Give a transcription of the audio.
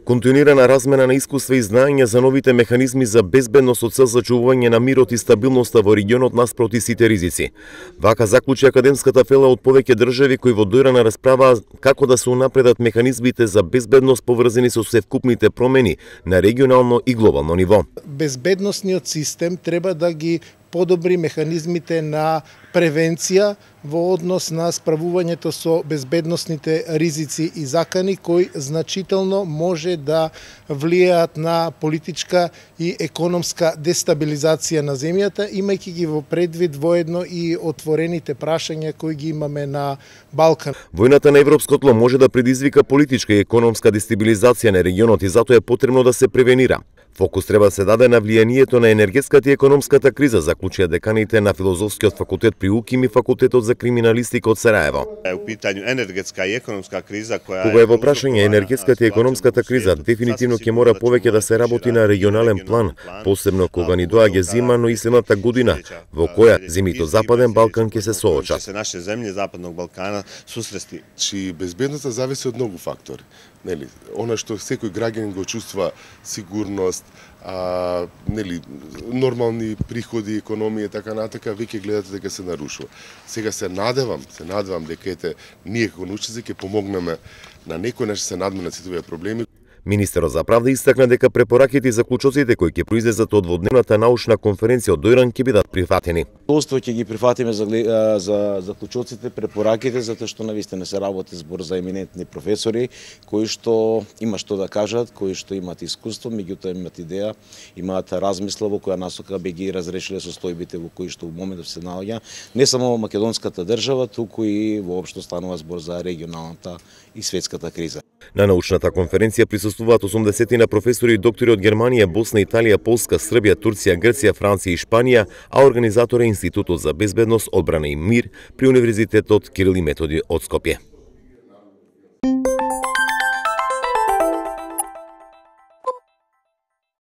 Континуирана размена на искуства и знаења за новите механизми за безбедност со цел зачувување на мирот и стабилноста во регионот наспроти сите ризици. Вака заклучи академската фела од повеќе држави кои во доирана расправа како да се унапредат механизмите за безбедност поврзани со севкупните промени на регионално и глобално ниво. Безбедносниот систем треба да ги подобри механизмите на превенција во однос на справувањето со безбедносните ризици и закани кои значително може да влијаат на политичка и економска дестабилизација на земјата, имајќи ги во предвид воедно и отворените прашања кои ги имаме на Балкан. Војната на европско тло може да предизвика политичка и економска дестабилизација на регионот и затоа е потребно да се превенира. Фокус треба да се даде на влијанието на енергетската и економската криза, заклучија деканите на Филозофскиот факултет при УКИМ и Факултетот за криминалистика од Сараево. Кога е во прашање енергетската и економската криза, дефинитивно ќе мора повеќе да се работи на регионален план, посебно кога ни доаѓа зима, но и следната година, во која земјите од Западен Балкан ќе се соочат. Наше земји Западnog Балкана susresti. Чи безбедноста зависи од многу фактори. Нели, она што секој граѓанин го чувства сигурност, нормални приходи, економија, така натака, веќе гледате дека се нарушува. Сега се надевам дека ние како научници ќе помогнеме на некој наш се надменат сите овие проблеми. Министерот за правда истакна дека препораките и заклучоците кои ќе произлезат од водневната научна конференција од Дојран ќе бидат прифатени. Задоволство ќе ги прифатиме за заклучоците, препораките, затоа што навистина се работи збор за еминентни професори кои што има што да кажат, кои што имаат искуство, меѓутоа имаат идеја, имаат размисла во која насока би ги разрешиле состојбите во кои што во моментов се наоѓа не само македонската држава, туку и воопшто станува збор за регионалната и светската криза. На научната конференција присуствуваат 80 на професори и доктори од Германија, Босна, Италија, Полска, Србија, Турција, Грција, Франција и Шпанија, а организатор е Институтот за безбедност, одбрана и мир при Универзитетот Кирил и Методи од Скопје.